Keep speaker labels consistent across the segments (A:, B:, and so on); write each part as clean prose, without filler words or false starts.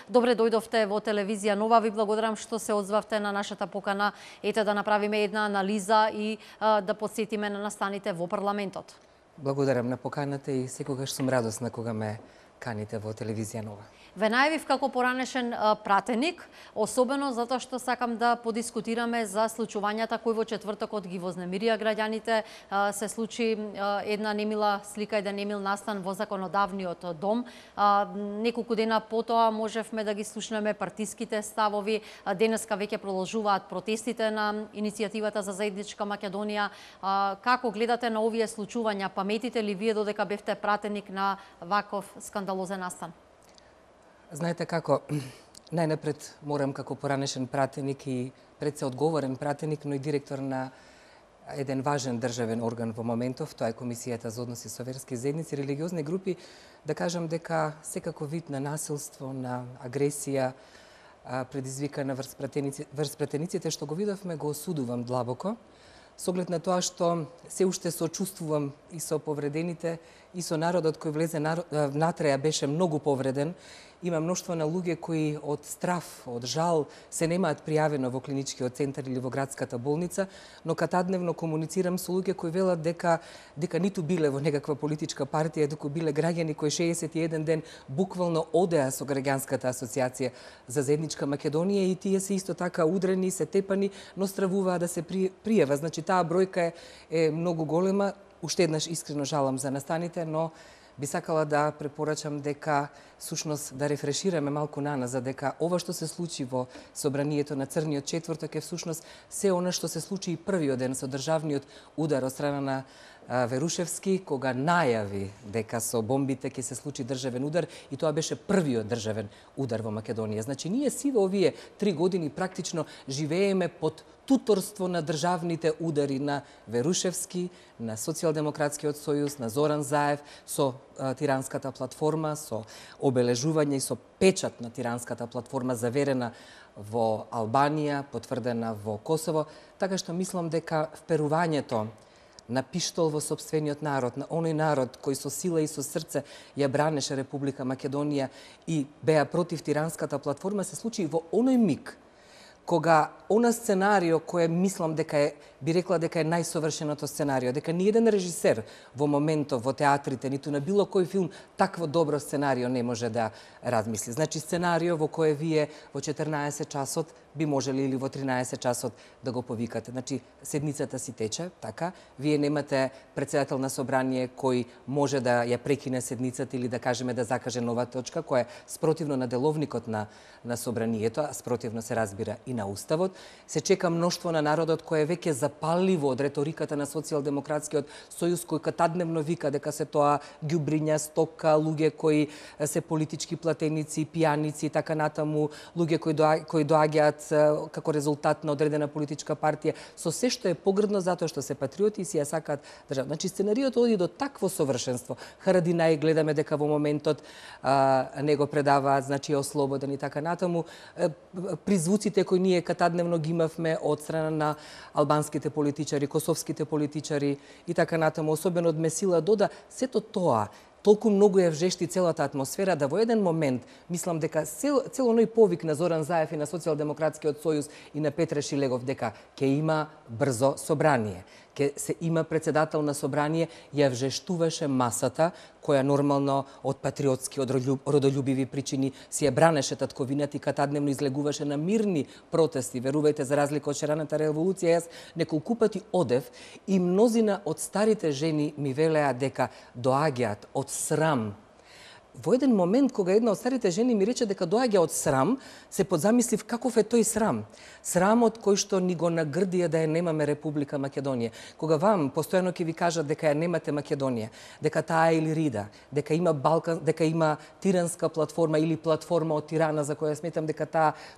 A: Добре дојдовте во телевизија Нова. Ви благодарам што се одзвавте на нашата покана. Ете да направиме една анализа и да потсетиме на настаните во парламентот.
B: Благодарам на поканата и секогаш сум радосна кога ме каните во телевизија Нова.
A: Ве најавив како поранешен пратеник, особено затоа што сакам да подискутираме за случувањата кои во четвртокот ги вознемирија граѓаните. Се случи една немила слика, еден немил настан во законодавниот дом. Неколку дена потоа можевме да ги слушнеме партиските ставови. Денеска веќе продолжуваат протестите на иницијативата за заедничка Македонија. Како гледате на овие случувања? Паметите ли вие додека бевте пратеник на ваков скандалозен настан?
B: Знаете како, најнапред морам како поранешен пратеник и пред се одговорен пратеник, но и директор на еден важен државен орган во моментов, тоа е Комисијата за односи со верски заедници и религиозни групи, да кажам дека секако вид на насилство, на агресија предизвикана врз пратениците што го видовме, го осудувам длабоко, со оглед на тоа што се уште сочувствувам и со повредените, и со народот кој влезе внатре, беше многу повреден. Има мноштво на луѓе кои од страф, од жал се немаат пријавено во клиничкиот центар или во градската болница, но катадневно комуницирам со луѓе кои велат дека ниту биле во некаква политичка партија, туку биле граѓани кои 61 ден буквално одеа со граѓанската асоциација за заедничка Македонија и тие се исто така удрени, се тепани, но стравуваа да се пријава. Значи таа бројка е многу голема. Уште еднаш искрено жалам за настаните, но би сакала да препорачам дека всушност да рефрешираме малку наназад, дека ова што се случи во собранието на Црниот четврток е всушност се она што се случи и првиот ден со државниот удар од страна на Верушевски, кога најави дека со бомбите ќе се случи државен удар и тоа беше првиот државен удар во Македонија. Значи ние сиве овие 3 години практично живееме под туторство на државните удари на Верушевски, на Социјалдемократскиот сојуз, на Зоран Заев, со Тиранската платформа, со обележување и со печат на Тиранската платформа заверена во Албанија, потврдена во Косово, така што мислам дека вперувањето на пиштол во сопствениот народ, на оној народ кој со сила и со срце ја бранеше Република Македонија и беа против Тиранската платформа, се случи во оној миг кога она сценарио кое мислам дека е, би рекла дека е најсовршеното сценарио, дека ни еден режисер во моментов во театрите, ниту на било кој филм, такво добро сценарио не може да размисли. Значи сценарио во кое вие во 14 часот би можели или во 13 часот да го повикате. Значи седницата си тече, така, вие немате претседател на собрание кој може да ја прекине седницата или да кажеме да закаже нова точка, која е спротивно на деловникот на собранието, а спротивно се разбира и на уставот. Се чека мноштво на народот кој е веќе запалливо од реториката на Социјалдемократскиот сојуз, кој катадневно вика дека се тоа ѓубриња, стока, луѓе кои се политички платеници, пијаници и така натаму, луѓе кои доаѓаат како резултат на одредена политичка партија, со се што е погрдно затоа што се патриоти и си ја сакаат држава. Значи сценариото оди до такво совршенство. Харадинај гледаме дека во моментот не го предаваат, значи е ослободен и така натаму. Призвуците кои ние катадневно ги имавме од страна на албанските политичари, косовските политичари и така натаму, особено од Месила Дода, сето тоа толку многу ја вжешти целата атмосфера да во еден момент мислам дека цел оној повик на Зоран Заев и на Социјалдемократскиот сојуз и на Петре Шилегов дека ќе има брзо собрание, ќе се има претседател на собрание, ја вжештуваше масата која нормално од патриотски, од родолюбиви причини си ја бранеше татковината и катадневно излегуваше на мирни протести. Верувајте, за разлика од шераната револуција, јас неколку пати одев и мнозина од старите жени ми велеа дека доаѓаат од срам. Во еден момент, кога една од старите жени ми рече дека доаѓа од срам, се подзамислив каков е тој срам. Срамот кој што ни го нагрдија да ја немаме Република Македонија. Кога вам постојано ќе ви кажат дека ја немате Македонија, дека таа е Илирида, дека има дека има Тиранска платформа или платформа од Тирана, за која сметам дека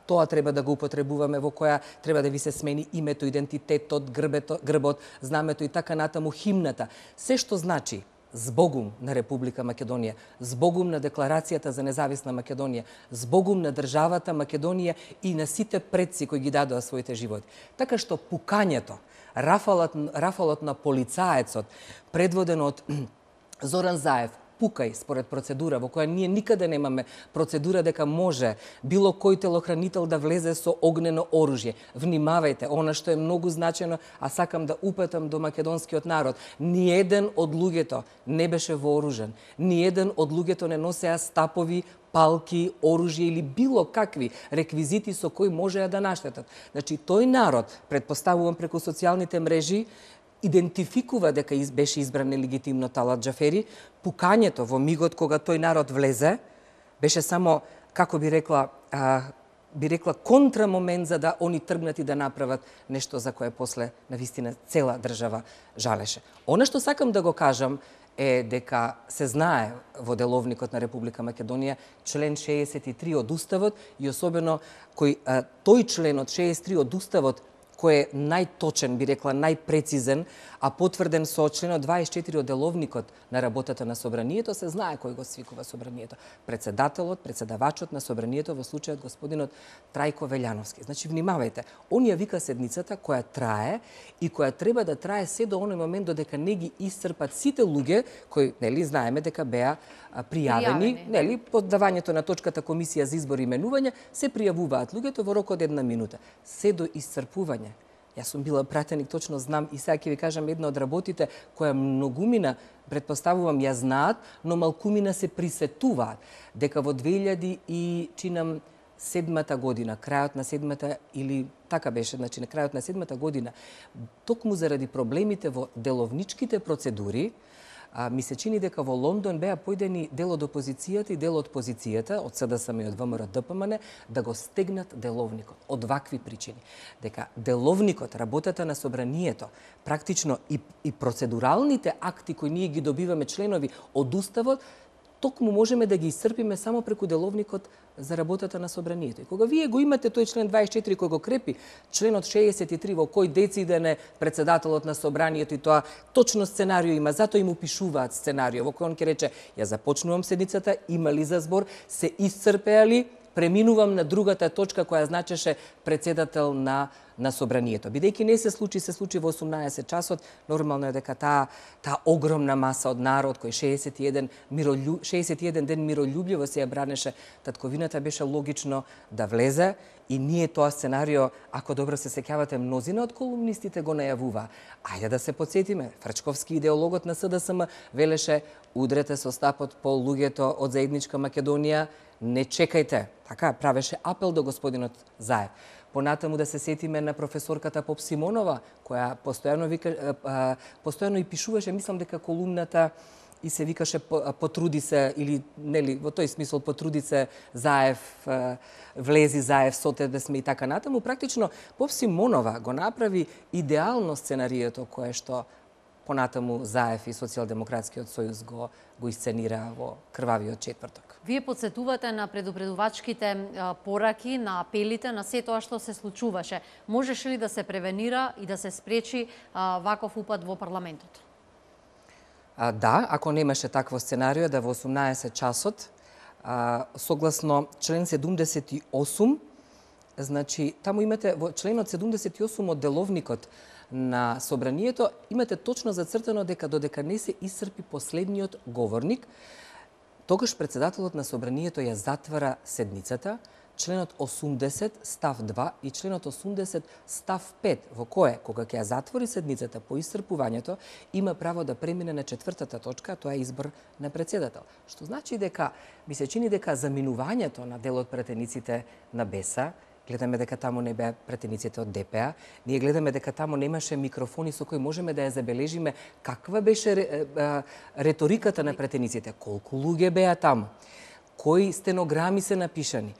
B: тоа треба да го употребуваме, во која треба да ви се смени името, идентитетот, грбот, знамето и така натаму, химната. Се што значи збогум на Република Македонија, збогум на Декларацијата за независна Македонија, збогум на државата Македонија и на сите предци кои ги дадоа своите животи. Така што пукањето, рафалот на полицаецот, предводен од Зоран Заев, пукај според процедура, во која ние никаде немаме процедура дека може било кој телохранител да влезе со огнено оружје. Внимавајте, она што е многу значено, а сакам да упатам до македонскиот народ. Ниеден од луѓето не беше вооружен. Ниеден од луѓето не носеа стапови, палки, оружје или било какви реквизити со кои можеа да наштетат. Значи, тој народ, предпоставувам преку социјалните мрежи, идентификува дека беше избран нелегитимно Талат Џафери. Пукањето во мигот кога тој народ влезе, беше само, како би рекла контрамомент за да они тргнат и да направат нешто за кое после навистина цела држава жалеше. Она што сакам да го кажам е дека се знае во деловникот на Република Македонија член 63 од Уставот и особено тој член од 63 од Уставот кој е најточен, би рекла, најпрецизен, а потврден со членот 24 од деловникот на работата на Собранието, се знае кој го свикува Собранието. Председателот, председавачот на Собранието, во случајот господинот Трајко Велјановски. Значи, внимавајте, он ја вика седницата која трае и која треба да трае се до оној момент додека не ги исцрпат сите луѓе кои, нели, знаеме дека беа пријавени, нели, под давањето на точката Комисија за избор и именување, се пријавуваат луѓето во рок од 1 минута. Се до исцрпување. Јас сум била пратеник, точно знам, и сега ќе ви кажам една од работите која многумина, предпоставувам, ја знаат, но малкумина се присетуваат, дека во 2007 година, крајот на 7-та или така беше, значи на крајот на 7-та година, токму заради проблемите во деловничките процедури, ми се чини дека во Лондон беа појдени дел од опозицијата и дел од позицијата, од СДСМ и од ВМРО ДПМН, да го стегнат деловникот. Од вакви причини. Дека деловникот, работата на Собранието, практично и процедуралните акти кои ние ги добиваме членови од Уставот, токму можеме да ги исцрпиме само преку деловникот за работата на Собранието. И кога вие го имате тој член 24 кој го крепи, членот 63 во кој дециден е председателот на Собранието и тоа точно сценарио има, затоа им упишуваат сценарио во кој он ќе рече ја започнувам седницата, има ли за збор, се исцрпеа ли, преминувам на другата точка која значеше председател на Собранието. Бидејќи не се случи во 18 часот, нормално е дека таа огромна маса од народ кој 61 ден мирољубливо се ја бранеше татковината, беше логично да влезе и ние тоа сценарио, ако добро се сеќавате, мнозина од колумнистите го најавува. Ајде да се потсетиме, Фрачковски, идеологот на СДСМ, велеше удрете со стапот по луѓето од заедничка Македонија, не чекајте. Така, правеше апел до господинот Заев. Понатаму да се сетиме на професорката Поп Симонова, која постојано и пишуваше, мислам дека колумната и се викаше потруди се, или нели, во тој смисол потруди се Заев, влези Заев, со тебе сме и така натаму. Практично Поп Симонова го направи идеално сценарието кое што понатаму Заев и Социјалдемократскиот сојуз го исценира во крвавиот четврток.
A: Вие подсетувате на предупредувачките пораки, на апелите, на се тоа што се случуваше. Можеше ли да се превенира и да се спречи ваков упад во парламентот?
B: Да, ако немаше такво сценарио, да во 18 часот, согласно член 78, значи, таму имате, во членот 78 од деловникот на Собранието, имате точно зацртано дека додека не се исцрпи последниот говорник, тогаш председателот на Собранието ја затвара седницата, членот 80 став 2 и членот 80 став 5, во кое, кога ќе ја затвори седницата по исцрпувањето, има право да премине на четвртата точка, тоа е избор на председател. Што значи дека, ми се чини дека заминувањето на дел од пратениците на БЕСА, гледаме дека таму не беа пратениците од ДПА, ние гледаме дека таму немаше микрофони со кои можеме да ја забележиме каква беше реториката на пратениците, колку луѓе беа таму, кои стенограми се напишани.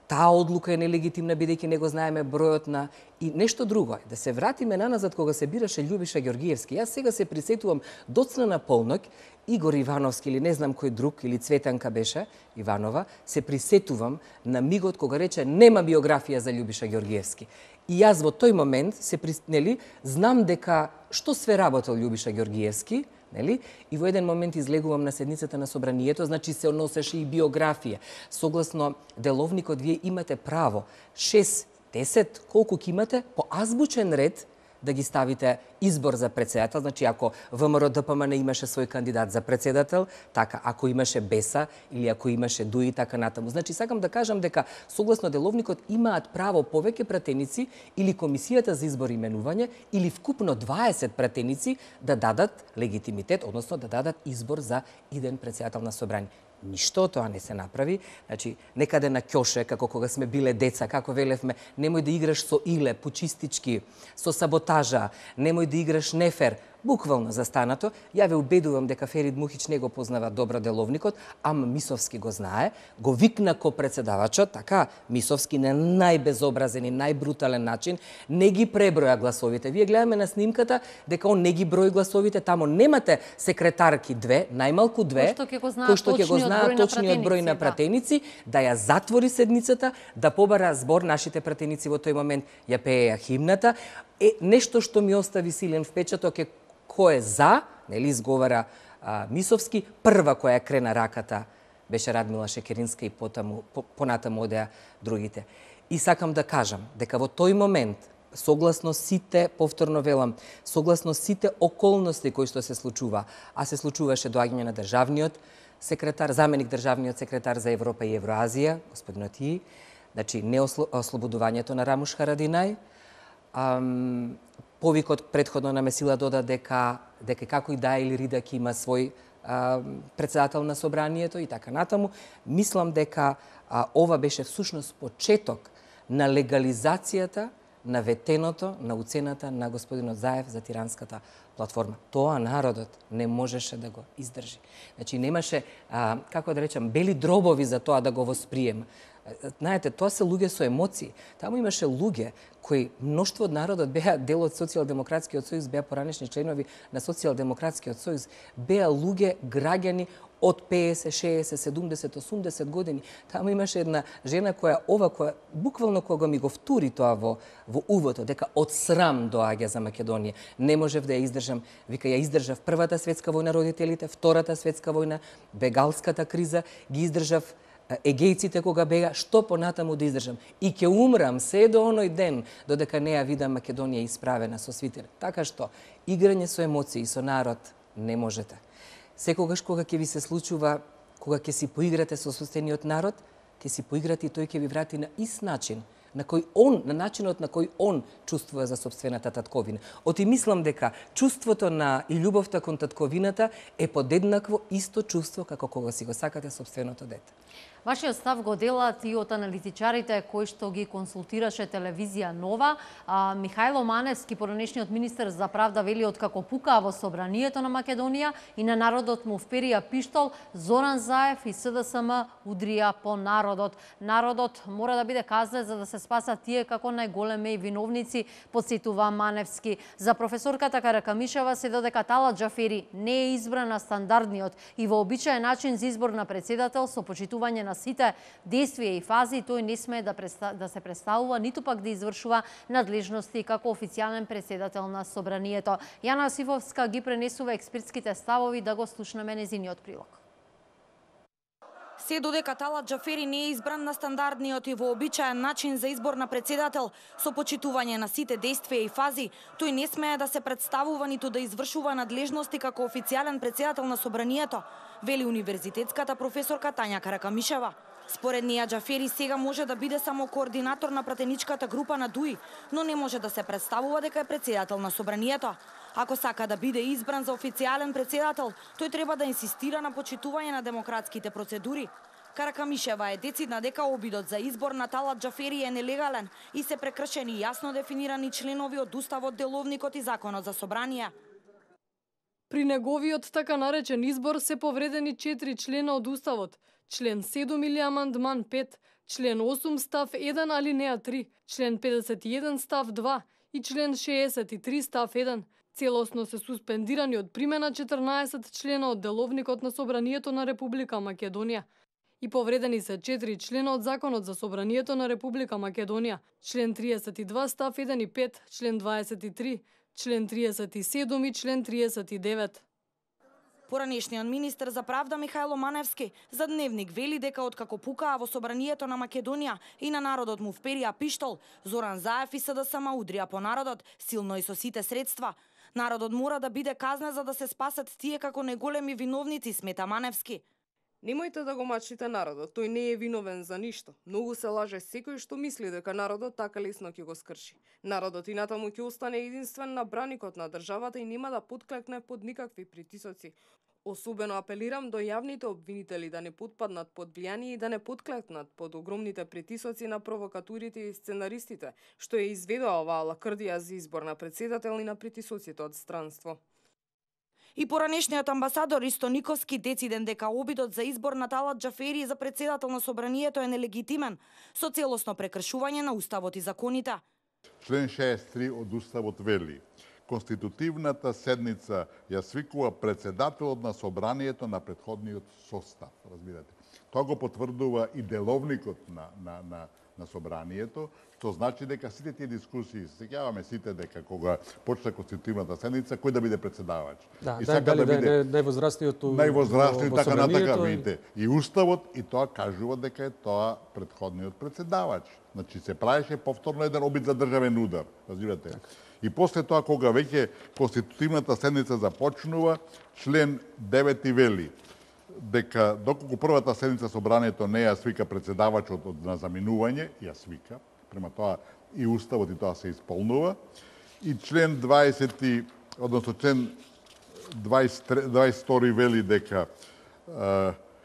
B: Таа одлука е нелегитимна бидејќи не го знаеме бројот на и нешто друго. Да се вратиме наназад кога се бираше Љубиша Ѓоргиевски. Јас сега се присетувам доцна на полноќ Игор Ивановски или не знам кој друг или Цветанка беше Иванова, се присетувам на мигот кога рече нема биографија за Љубиша Ѓоргиевски. И јас во тој момент знам дека што све работел Љубиша Ѓоргиевски, нели? И во еден момент излегувам на седницата на Собранието, значи се носеше и биографија. Согласно деловникот, вие имате право 6, 10, колку ќе имате, по азбучен ред да ги ставите избор за председател, значи ако ВМРО ДПМН имаше свој кандидат за председател, така ако имаше Беса или ако имаше ДУИ, така натаму. Значи сакам да кажам дека согласно деловникот имаат право повеќе пратеници или комисијата за избор и именување или вкупно 20 пратеници да дадат легитимитет, односно да дадат избор за иден председател на собрание. Ништо од тоа не се направи. Значи, некаде на ќоше, како кога сме биле деца, како велевме, немој да играш со иле, почистички, со саботажа, немој да играш нефер, буквално застанато. Ја ве убедувам дека Ферид Мухич не го познава добро деловникот, ама Мисовски го знае. Го викна ко председавачот, така, Мисовски на најбезобразен и најбрутален начин, не ги преброја гласовите. Вие гледаме на снимката дека он не ги брои гласовите, тамо немате секретарки две, најмалку две,
A: кои што ќе го знаат
B: точниот број на пратеници, да ја затвори седницата, да побара збор, нашите пратеници во тој момент ја пееја химната. Нешто што ми остави силен впечаток е кој е за, нели изговара Мисовски, прва која крена раката беше Радмила Шекеринска и понатаму одеа другите. И сакам да кажам дека во тој момент, согласно сите, повторно велам, согласно сите околности кои што се случува, а се случуваше доаѓање на државниот секретар, заменик државниот секретар за Европа и Евроазија, господинот И, значи не ослободувањето на Рамуш Харадинај, повикот претходно на Месила дода дека како и да или Ридак има свој председател на собранието и така натаму. Мислам дека ова беше всушност почеток на легализацијата на ветеното, на уцената на господинот Заев за тиранската платформа. Тоа народот не можеше да го издржи. Значи немаше, како да речам, бели дробови за тоа да го восприема. Знаете, тоа се луѓе со емоции. Таму имаше луѓе кои мноштво од народот беа дел од Социјалдемократскиот сојуз, беа поранешни членови на Социјалдемократскиот сојуз, беа луѓе, граѓани од 50, 60, 70, 80 години. Таму имаше една жена која буквално кога ми го втури тоа во увото, дека од срам доаѓа за Македонија. Не можев да ја издржам. Вика, ја издржав Првата светска војна родителите, Втората светска војна, бегалската криза, ги издржав егејците кога бега, што понатаму да издржам. И ќе умрам се до оној ден, додека не ја видам Македонија исправена со свитер. Така што, играње со емоции, со народ, не можете. Секогаш кога ќе ви се случува, кога ќе си поиграте со собствениот народ, ќе си поиграте и тој ќе ви врати на ист начин, на начинот на кој он чувствува за собствената татковина. Оти мислам дека чувството на и љубовта кон татковината е подеднакво исто чувство како кога си го сакате собственото дете.
A: Вашиот став го делат и од аналитичарите кои што ги консултираше телевизија Нова. Михајло Маневски, поранешниот министер за правда, вели откако пукаа во собранието на Македонија и на народот му вперија пиштол, Зоран Заев и СДСМ удрија по народот. Народот мора да биде казнет за да се спасат тие како најголеми виновници, подсетува Маневски. За професорката Каракамишева се додека Талат Џафери не е избран на стандардниот и вообичаен начин за избор на председател со почитување на сите действија и фази, тој не смее да се представува, ниту пак да извршува надлежности како официјален председател на собранието. Јана Јосифовска ги пренесува експертските ставови, да го слушнеме незиниот прилог.
C: Се додека Талат Џафери не е избран на стандардниот и вообичаен начин за избор на председател со почитување на сите действија и фази, тој не смее да се представува ниту да извршува надлежности како официјален председател на собранието, вели универзитетската професорка Тања Каракамишева. Според неја Џафери сега може да биде само координатор на пратеничката група на ДУИ, но не може да се представува дека е председател на собранието. Ако сака да биде избран за официјален председател, тој треба да инсистира на почитување на демократските процедури. Каракамишева е децидна дека обидот за избор на Талат Џафери е нелегален и се прекршени јасно дефинирани членови од Уставот, Деловникот и Законот за собрание.
D: При неговиот така наречен избор се повредени 4 члена од Уставот, член 7 или амандман 5, член 8 став 1 алинеја 3, член 51 став 2 и член 63 став 1. Целосно се суспендирани од примена 14 члена од Деловникот на Собранието на Република Македонија. И повредени се 4 члена од Законот за Собранието на Република Македонија, член 32 став 1 и 5, член 23, член 37 и член 39.
C: Поранешниот министер за правда Михајло Маневски за Дневник вели дека откако пукаа во собранието на Македонија и на народот му вперија пиштол, Зоран Заев и СДСМ удрија по народот силно и со сите средства. Народот мора да биде казнен за да се спасат тие како неголеми виновници, смета Маневски.
D: Немојте да го мачите народот, тој не е виновен за ништо. Многу се лаже секој што мисли дека народот така лесно ќе го скрши. Народот и натаму ќе остане единствен на браникот на државата и нема да потклекне под никакви притисоци. Особено апелирам до јавните обвинители да не потпаднат под влијание и да не потклекнат под огромните притисоци на провокатурите и сценаристите, што ја изведоа оваа лакрдија за избор на председател и на притисоците од странство.
C: И поранешниот амбасадор Ристо Никовски дециден дека обидот за избор на Талат Џафери за председател на собранието е нелегитимен, со целосно прекршување на уставот и законите.
E: Член 63 од уставот вели: конститутивната седница ја свикува председателот на собранието на претходниот состав. Разбирате. Тоа го потврдува и деловникот на собранието, што значи дека сите тие дискусии, сеќаваме сите дека кога почна конститутивната седница, кој да биде председавач.
F: Да,
E: и
F: дали да биде највозрастниот
E: највозрастниот така натака видите. И уставот и тоа кажува дека е тоа претходниот председавач. Значи се правеше повторно еден обид за државен удар, разбирате. И после тоа кога веќе конститутивната седница започнува, член 9 вели дека доколку првата седница собранието не ја свика председавачот на заминување, ја свика, према тоа и уставот и тоа се исполнува. И член 20, односно член 22 вели дека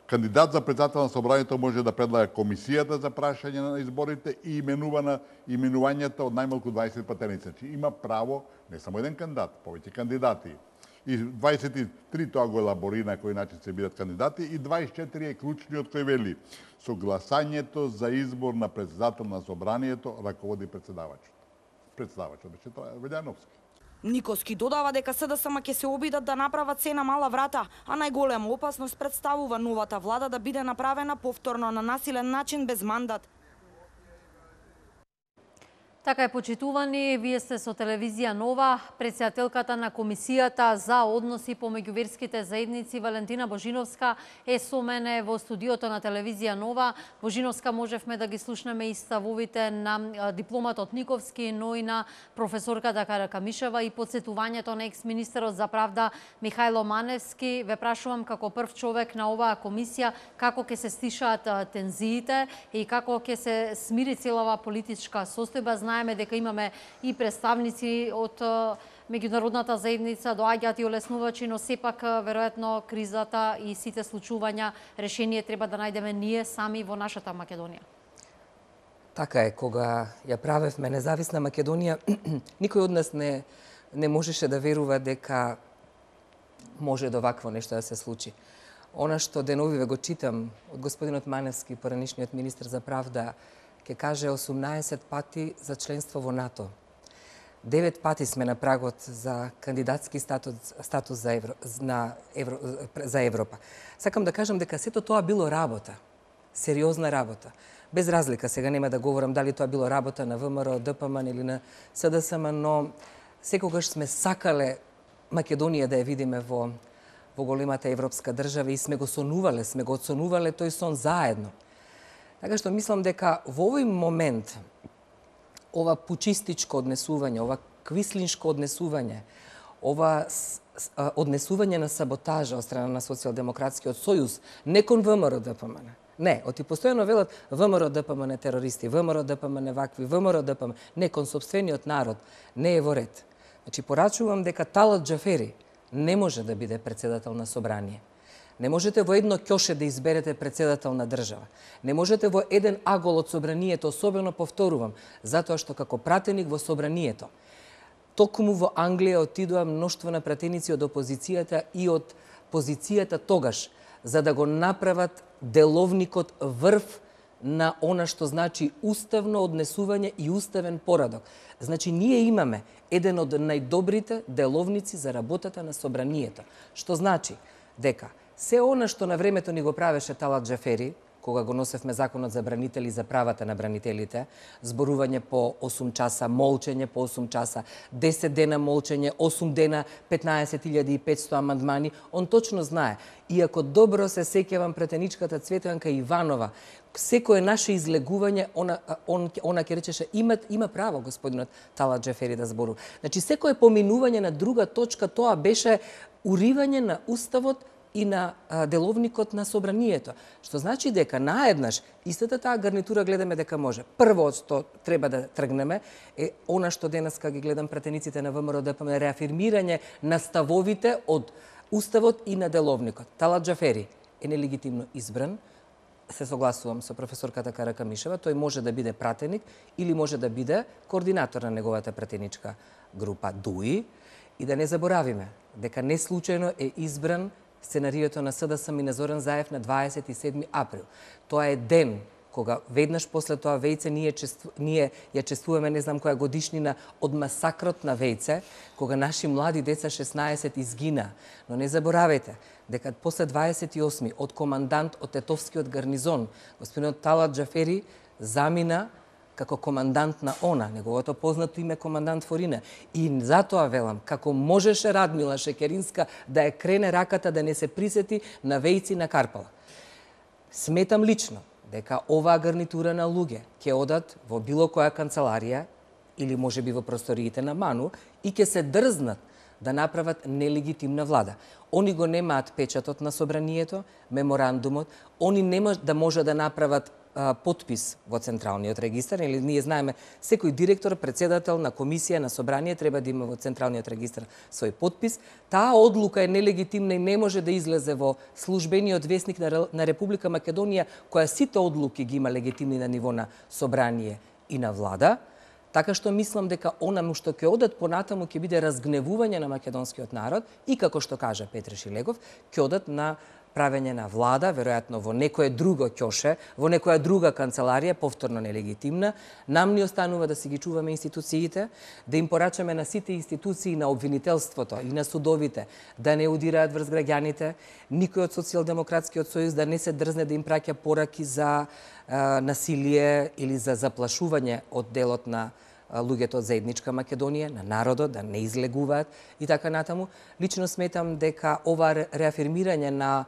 E: кандидат за председател на собранието може да предлага комисијата за прашање на изборите и именувањето од најмалку 20 патерници. Значи има право не само еден кандидат, повеќе кандидати. И 23 тоа го елаборира на кој начин се бидат кандидати и 24 е клучниот кој вели: со гласањето за избор на председател на собранието раководи председавачот. Председавачот беше тоа Велјановски.
C: Никовски додава дека СДСМ ќе се обидат да направат се на мала врата, а најголема опасност представува новата влада да биде направена повторно на насилен начин без мандат.
A: Така е, почитувани, вие сте со телевизија Нова. Председателката на Комисијата за односи помеѓу верските заедници Валентина Божиновска е со мене во студиото на телевизија Нова. Божиновска, можевме да ги слушнеме и ставовите на дипломатот Никовски, но и на професорката Каракамишева и подсетувањето на екс-министерот за правда Михајло Маневски. Ве прашувам како прв човек на оваа комисија како ќе се стишаат тензиите и како ќе се смири целава политичка состојба. Знаеме дека имаме и представници од меѓународната заедница, доаѓаат и олеснувачи, но сепак веројатно кризата и сите случувања решение треба да најдеме ние сами во нашата Македонија.
B: Така е, кога ја правевме независна Македонија, никој од нас не можеше да верува дека може до вакво нешто да се случи. Она што деновиве го читам од господинот Маневски, поранешниот министер за правда, ќе каже 18 пати за членство во НАТО. 9 пати сме на прагот за кандидатски статус за Европа. Сакам да кажам дека сето тоа било работа, сериозна работа. Без разлика, сега нема да говорам дали тоа било работа на ВМРО, ДПМН или на СДСМ, но секогаш сме сакале Македонија да ја видиме во големата европска држава и сме го оценувале тој сон заедно. Така што мислам дека во овој момент ова пучистичко однесување, ова квислиншко однесување, ова однесување на саботажа од страна на Социјалдемократскиот сојуз, не кон ВМРО ДПМН. Не, оти постојано велат ВМРО ДПМН терористи, ВМРО ДПМН вакви, ВМРО ДПМН, не кон сопствениот народ, не е во ред. Значи порачувам дека Талат Џафери не може да биде председател на собрание. Не можете во едно ќоше да изберете председател на држава. Не можете во еден агол од собранието, особено повторувам, затоа што како пратеник во собранието, токму во Англија отидоа мноштво на пратеници од опозицијата и од позицијата тогаш, за да го направат деловникот врв на она што значи уставно однесување и уставен порадок. Значи, ние имаме еден од најдобрите деловници за работата на собранието, што значи дека се она што на времето ни го правеше Талат Џафери, кога го носевме законот за бранители, за правата на бранителите, зборување по 8 часа, молчење по 8 часа, 10 дена молчење, 8 дена, 15.500 амандмани, он точно знае. Иако добро се сеќавам претеничката Цветанка Иванова, секое наше излегување, она ќе речеше, има право господинот Талат Џафери да зборува. Значи, секое поминување на друга точка, тоа беше уривање на Уставот и на деловникот на собранието. Што значи дека наеднаш истата таа гарнитура гледаме дека може. Прво што треба да тргнеме е она што денеска ги гледам пратениците на ВМРО ДПМН, реафирмирање на ставовите од Уставот и на деловникот. Талат Џафери е нелегитимно избран. Се согласувам со професорката Каракамишева, тој може да биде пратеник или може да биде координатор на неговата пратеничка група ДУИ. И да не заборавиме дека не случајно е избран сценариото на СДСМ и на Зоран Заев на 27 април. Тоа е ден кога веднаш после тоа Вејце ние ја чествуваме не знам која годишнина од масакрот на Вејце, кога наши млади деца 16 изгина. Но не заборавајте дека после 28 од командант од Тетовскиот гарнизон, господинот Талат Џафери замина како командант на ОНА, неговото познато име командант Форина. И затоа велам, како можеше Радмила Шекеринска да ја крене раката да не се присети на Вејци на Карпала. Сметам лично дека оваа гарнитура на луѓе ќе одат во било која канцеларија или можеби во просториите на МАНУ и ќе се дрзнат да направат нелегитимна влада. Они го немаат печатот на собранието, меморандумот, они нема да може да направат подпис во Централниот регистар, или ние знаеме секој директор, председател на комисија, на собрание треба да има во Централниот регистар свој подпис. Таа одлука е нелегитимна и не може да излезе во службениот весник на Република Македонија, која сите одлуки ги има легитимни на ниво на собрание и на влада. Така што мислам дека онаму што ќе одат понатаму ќе биде разгневување на македонскиот народ и, како што кажа Петре Шилегов, ќе одат на правење на влада, веројатно во некое друго ќоше, во некоја друга канцеларија, повторно нелегитимна. Нам ни останува да си ги чуваме институциите, да им порачаме на сите институции на обвинителството и на судовите да не удираат врз граѓаните, никој од Социјалдемократскиот сојуз да не се дрзне да им праќа пораки за насилие или за заплашување од делот на луѓето од заедничка Македонија, на народот, да не излегуваат и така натаму. Лично сметам дека ова реафирмирање на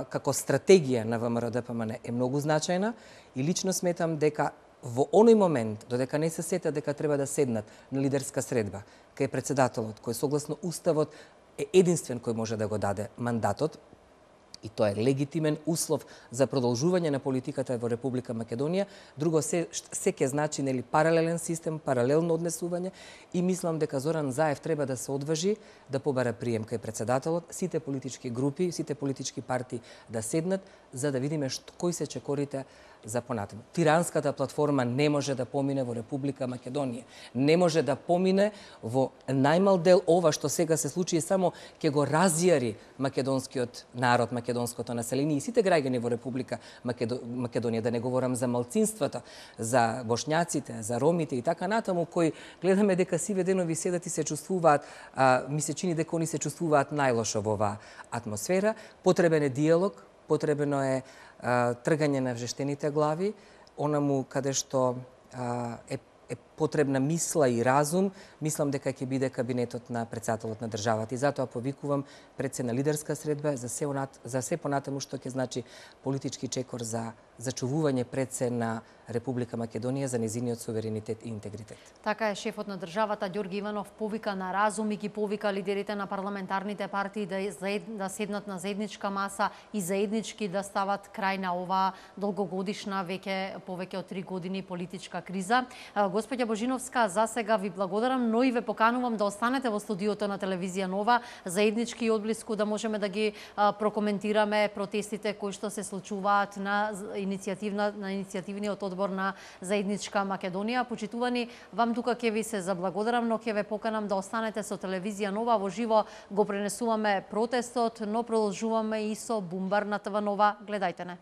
B: како стратегија на ВМРО ДПМН е многу значајна и лично сметам дека во оној момент, додека не се сета дека треба да седнат на лидерска средба, кај председателот, кој согласно Уставот е единствен кој може да го даде мандатот, и тоа е легитимен услов за продолжување на политиката во Република Македонија. Друго се ќе значи нели паралелен систем, паралелно однесување и мислам дека Зоран Заев треба да се одважи да побара прием кај председателот, сите политички групи, сите политички партии да седнат за да видиме кои се чекорите за понатаму. Тиранската платформа не може да помине во Република Македонија. Не може да помине во најмал дел ова што сега се случи само ќе го разјари македонскиот народ, македонското население и сите граѓани во Република Македонија, да не говорам за малцинствата, за бошњаците, за ромите и така натаму, кои гледаме дека сиве денови седат и се чувствуваат, ми се чини дека они се чувствуваат најлошо во оваа атмосфера. Потребен е диалог, потребено е тргање на вжештените глави, онаму каде што е потребна мисла и разум, мислам дека ќе биде кабинетот на председателот на државата. И затоа повикувам пред се на лидерска средба за се понатаму што ќе значи политички чекор за зачувување пред се на Република Македонија за незиниот суверенитет и интегритет.
A: Така е, шефот на државата Ѓорги Иванов повика на разум и ги повика лидерите на парламентарните партии да седнат на заедничка маса и заеднички да стават крај на оваа долгогодишна, повеќе од 3 години политичка криза. Господја Божиновска, за сега ви благодарам, но и ве поканувам да останете во студиото на телевизија Нова, заеднички и одблиску да можеме да ги прокоментираме протестите кои што се случуваат на иницијативниот одбор на Заедничка Македонија. Почитувани, вам тука ќе ви се заблагодарам, но ќе ве поканам да останете со телевизија Нова. Во живо го пренесуваме протестот, но продолжуваме и со Бумбар на ТВ Нова. Гледајте не.